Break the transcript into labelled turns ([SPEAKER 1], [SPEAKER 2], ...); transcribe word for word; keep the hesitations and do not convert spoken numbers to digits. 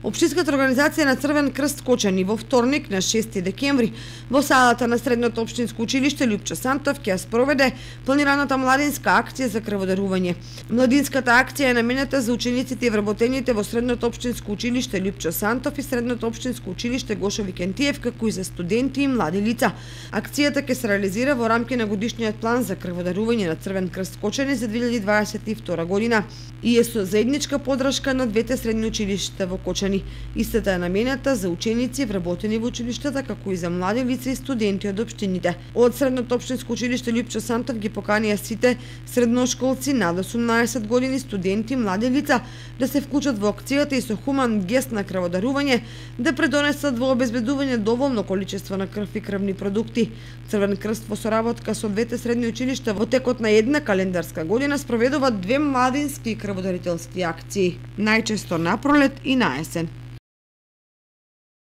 [SPEAKER 1] Општинската организација на Црвен крст Кочани во вторник на шести декември во салата на Средното општинско училиште Лјупчо Сантов ќе спроведе планираната младинска акција за крводарување. Младинската акција е наменета за учениците и вработените во Средното општинско училиште Лјупчо Сантов и Средното општинско училиште Гошо Викентиев, како и за студенти и млади лица. Акцијата ќе се реализира во рамки на годишниот план за крводарување на Црвен крст Кочани за две илјади дваесет и втора година и е со заедничка подршка на двете средни училишта во Кочани. Истата е наменета за ученици вработени во училиштата, како и за млади лица и студенти од општините. Од Средното општинско училиште Лјупчо Сантов ги поканија сите средношколци над осумнаесет години, студенти, млади лица да се вклучат во акцијата и со хуман гест на крводарување да предонесат во обезбедување доволно количество на крв и крвни продукти. Црвен крст во соработка со двете средни училишта во текот на една календарска година спроведува две младински крводарителски акции, најчесто на пролет и на есен.